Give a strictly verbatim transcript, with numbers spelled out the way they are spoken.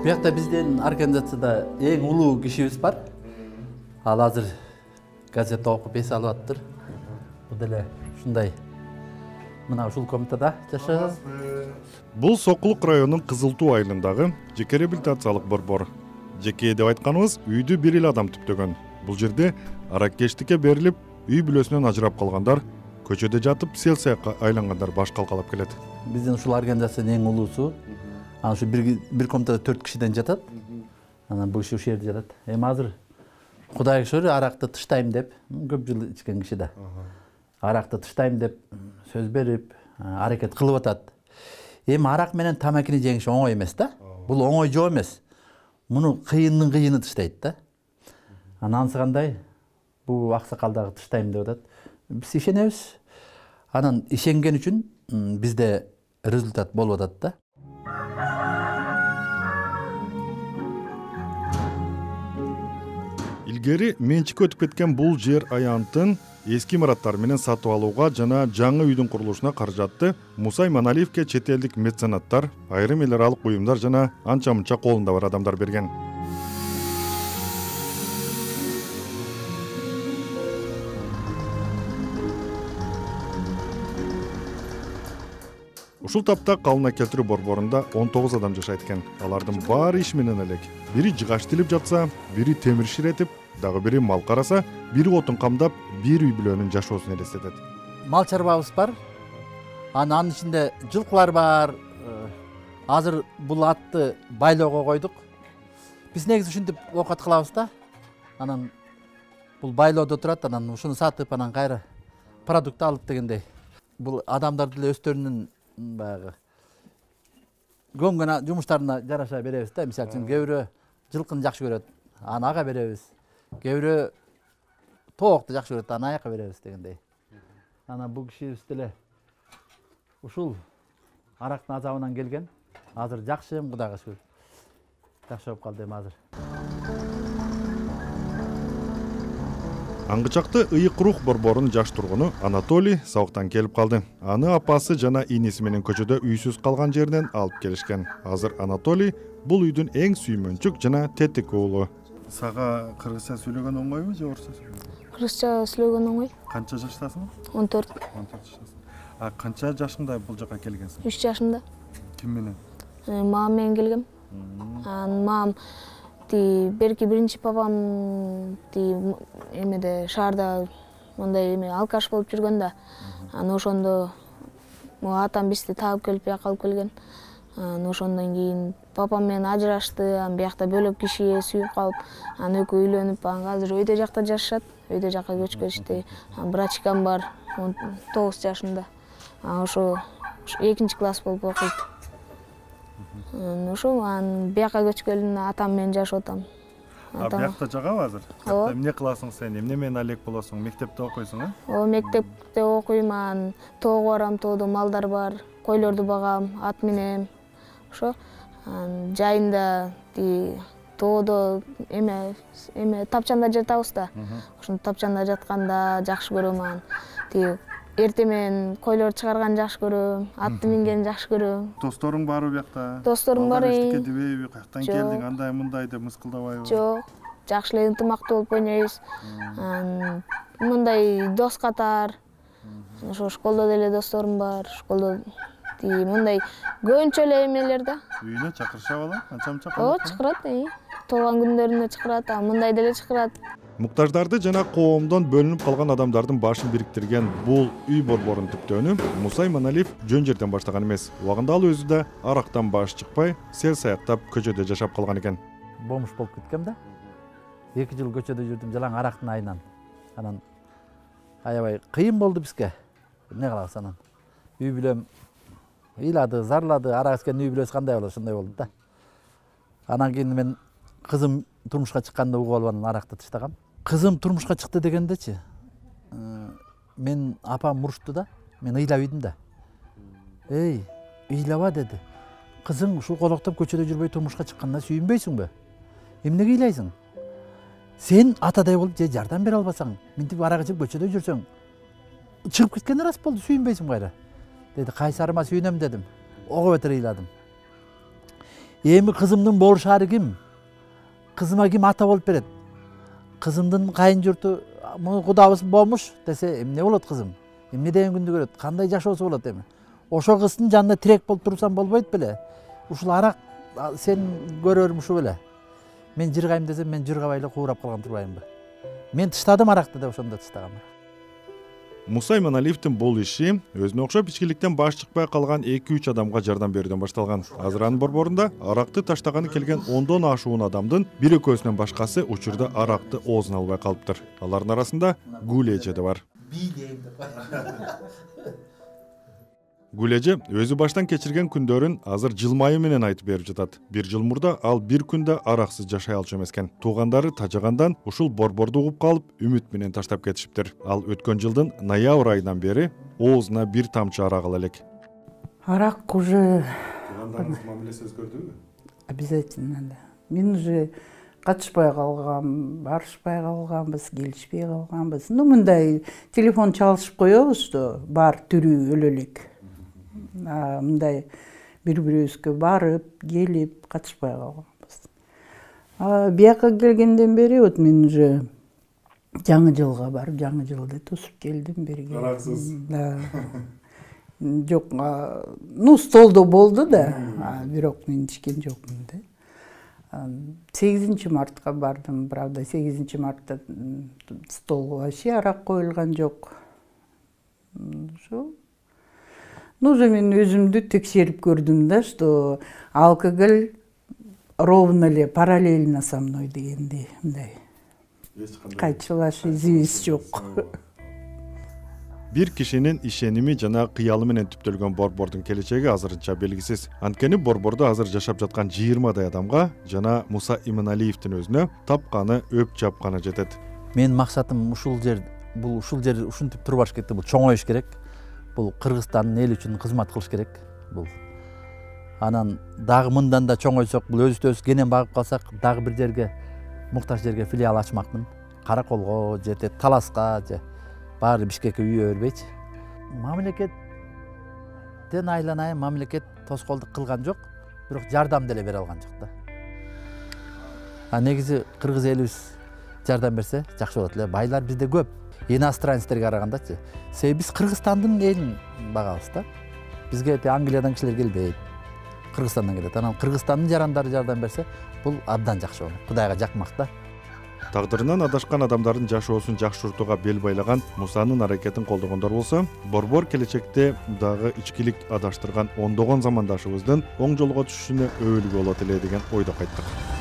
Биякта биздин организацияда эң улуу кишибиз бар. Ал азыр газета окуп эс алып аттыр. Бул деле ушундай мына ушул комнатада жашайбыз. Бул Сокулук районунун Кызыл Туу айылындагы жеке реабилитациялык борбор. Жеке деп айтканыбыз үйдү бир эле адам түптөгөн. Бул жерде аракечтикке берилип, үй бүлөсүнөн ажырап калгандар, көчөдө жатып сел саякка айлангандар баш калкалап келет. Биздин ушул организациянын эң улуусу. Анан ушу бир бир комнатада төрт кишиден жатат. Анан бул киши ушул жерде жатат. Эми азыр Кудайга шүгүр аракты тыштайм деп, көп жыл ичкен киши да. Аракты тыштайм деп сөз берип, аракет кылып атат. Эми арак менен тамакини жеңиш оңой эмес да. Бул оңой жоо эмес. Муну кыйындын кыйыны тыштайт да. Анан анысы кандай? Бул аксакал дагы тыштайм деп атат. Биз ишенебиз. Анан ишенген үчүн бизде результат болуп атат да. Илгери менчикке өтүп кеткен бул жер аянтын эски имараттар менен сатып алууга жана жаңы үйдүн курулушуна каражатты Мусай Маналиевке чет элдик меценаттар, айрым эл аралык уюмдар жана анча-мынча колунда бар адамдар берген. Ушул тапта калына келтирүү борборунда он тогуз адам жашайт экен. Алардын баары иш менен элек. Бири жыгач тилип жатса, бири темир ширетип, дагы бири мал караса, бири отун камдап, бир үй бүлөнүн жашоосун элестетет. Мал чарбабыз бар. Анын ичинде жылкылар бар. Азыр бул атты байлоого койдук. Биз негизи ушинтип оокат кылабыз да. Анан бул байлоодо турат, анан ушуну сатып, анан кайра продукт алып дегендей. Бул адамдарды эле өздөрүнүн баягы көңгөн жумуштарына жараша беребиз да. Мисалы үчүн кээ бирөө жылкыны жакшы көрөт, аны ага беребиз. Кээ бирөө тоокту жакшы көрөт, аны аяка беребиз дегендей. Анан бул кишибиз деле ушул арактын азабынан келген. Азыр жакшы, Кудайга шүгүр. Жакшы болуп калды эми азыр. Аңгычакты ыйык рух борборунун жаш тургуну Анатолий сабактан келип калды. Аны апасы жана иниси менен көчөдө үйсүз калган жеринен алып келишкен. Азыр Анатолий бул үйдүн эң сүймөнчүк жана тетик уулу. Сага кыргызча сүйлөгөн оңойбу же орусча сүйлөгөн? Кыргызча сүйлөгөн оңой. Канча жаштасың? он төрт. он төрт жаштасың. А канча жашыңда бул жака келгенсиң? үч жашымда. Ким менен? Мамам менен келгем. Анан мамам ти берки биринчи папам ти эмеде шаарда мындай эме алкаш болуп жүргөн да. Анан ошондо атам бизди таап келип бияка алып келген. Анан ошондон кийин папам менен ажырашты, анан биякта бөлөк кишиге сүйүп калып, анан экөө үйлөнүп, анан азыр өйдө жакта жашашат. Өйдө жакка көчкөнүштү. Анан брачкам бар, он тогуз жашында. Анан ошо экинчи класс болуп окуйт. Ошо анан бияка көчкөн атам менен жашап атам. А биякта жагабы азыр? Ооба. Эмне кыласың сен? Эмне менен алек болосуң? Мектепте окуйсуң, э? Ооба, мектепте окуйм, анан тоого барам, тоодо малдар бар, койлорду багам, ат минем. Ошо анан жайында ти тоодо эме эме тапчанда жатабыз да. Ошондо тапчанда жатканда жакшы көрөм анан. Ти эртең менен койлор чыгарганды жакшы көрөм, атты мингенди жакшы көрөм. Досторуң барбы биякта? Досторум бар. Эчтеке дебейби, каяктан келдиң, андай мындай деп мыскылдабайбы? Жок, жакшы эле ынтымактуу болуп ойнойбуз. Анан мындай дос катар. Ошо школдо деле досторум бар. Школдо ти мындай көбүнчө эле эмелер да. Үйүнө чакырышабы алар? Канча-мынча? Ооба, чакырат. Туулган күндөрүнө чакырат, а мындай деле чакырат. Муктаждарды жана коомдон бөлүнүп калган адамдардын башын бириктирген бул үй борборун түптөөнү Мусай Маналиев жөн жерден баштаган эмес. Убагында ал өзү да арактан баш чыкпай, сел саяктап көчөдө жашап калган экен. Бомуш болуп кеткем да. эки жыл көчөдө жүрдүм жалаң арактын айынан. Анан аябай кыйын болду бизге. Эмне кылабыз анан? Үй бүлөм ыйлады, зарлады, арак ичкен үй бүлөсү кандай болот, ошондой болду да. Анан кийин мен кызым турмушка чыкканда угуп алып анан аракты тыштагам. Кызым турмушка чыкты дегендечи, мен апам урушту да, мен ыйлап ийдим да. Эй, ыйлаба деди. Кызың ушул колоктоп көчөдө жүрбөй турмушка чыкканына сүйүнбөйсүңбү? Эмнеге ыйлайсың? Сен атадай болуп же жардам бере албасаң, мынтип арак ичип көчөдө жүрсөң, чыгып кеткен рас болду, сүйүнбөйсүң кайра. Деди, кайсарыма сүйүнөм дедим. Ого бетер ыйладым. эми кызымдын болушаары ким, кызыма ким ата болуп берет, кызымдын кайын журту кудабыз болмуш десе эмне болот кызым, эмне деген күндү көрөт, кандай жашоосу болот эми. Ошол кыздын жанында тирек болуп турсам болбойт беле. Ушул арак сен көрөрүм ушу беле. Мен жыргайм десем мен жыргабай эле куурап калган турбаймынбы. Мен тыштадым аракты деп ошондо тыштагам. Муса Иманалиевдин бул иши өзүнө окшоп ичкиликтен баш чыкпай калган эки үч адамга жардам берүүдөн башталган. Азыр анын борборунда аракты таштаганы келген ондон ашуун адамдын бир экөөсүнөн башкасы учурда аракты оозуна албай калыптыр. Алардын арасында Гүл эже да бар. Гүл эже өзү баштан кечирген күндөрүн азыр жылмайы менен айтып берип жатат. Бир жыл мурда ал бир күндө араксыз жашай алчу эмес экен. Туугандары тажагандан ушул борборду угуп калып, үмүт менен таштап кетишиптир. Ал өткөн жылдын ноябрь айынан бери оозуна бир тамчы арак ала элек. Арак уже Туугандарыңыз мамилеси өзгөрдүбү? Обязательно да. Мен уже катышпай калгам, барышпай калганбыз, келишпей калганбыз. Ну мындай телефон чалышып коебуз да, бар түрү өлө элек. Мындай бири-бирибизге барып, келип катышпай калганбыз. Бияка келгенден бери вот мен уже жаңы жылга барып, жаңы жылды тосуп келдим берге. Араксыз. Да. Жок, ну столдо болду да, бирок мен ичкен жокмун да. сегизинчи мартка бардым, правда, сегизинчи мартта столго вообще арак коюлган жок. Ошо. Ну, уже мен өзүмдү текшерип көрдүм да, что алкоголь ровно эле параллельно со мной дегендей, мындай. Кайчылаш изибиз жок. Бир кишинин ишеними жана кыялы менен түптөлгөн борбордун келечеги азырынча белгисиз. Анткени борбордо азыр жашап жаткан жыйырмадай адамга жана Муса Иманалиевдин өзүнө тапканы өп жапканы жетет. Менин максатым ушул жер, бул ушул жер ушинтип турбаш кетти, бул чоңоюш керек. Бул Кыргызстандын эли үчүн кызмат кылыш керек. Бул анан дагы мындан да чоңойсок, бул өзүбүз кенен багып калсак, дагы бир жерге муктаж жерге филиал ачмакмын. Караколго же Таласка же баары Бишкекке үйө бербейчи. Мамлекеттен айланайын, мамлекет тоскоолдук кылган жок, бирок жардам деле бере алган жок да. А негизи кыргыз элибиз жардам берсе жакшы болот эле. Байлар бизде көп. Иностранецтерге карагандачы. Себеби биз Кыргызстандын элин багабыз да. Бизге Англиядан кишилер келбейт. Кыргызстандан келет. Анан Кыргызстандын жарандары жардам берсе, бул абдан жакшы болот. Кудайга жакмак да. Тагдырынан адашкан адамдардын жашоосун жакшыртууга бел байлаган Мусанын аракетин колдогондор болсо, борбор келечекте дагы ичкилик адаштырган ондогон замандашыбыздын оң жолго түшүшүнө өбөлгү болот эле деген ойдо кайттык.